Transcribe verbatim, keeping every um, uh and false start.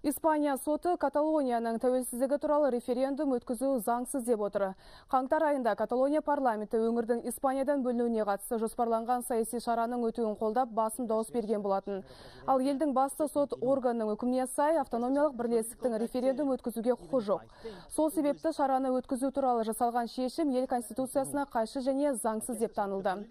Испания соты Каталонияның тәуелсіздігі туралы референдум өткізу заңсыз деп отыр. Қаңтар айында Каталония парламенті өңірдің Испаниядан бөлінуіне қатысты жоспарланған саяси шараның өтуін қолдап басым дауыс берген болатын. Ал елдің басты сот органының үкіміне сай автономиялық бірлестіктің референдум өткізуге құқы жоқ. Сол себепті шараны өткізу туралы жасалған шешім ел конституциясына қайшы және заңсыз деп танылды.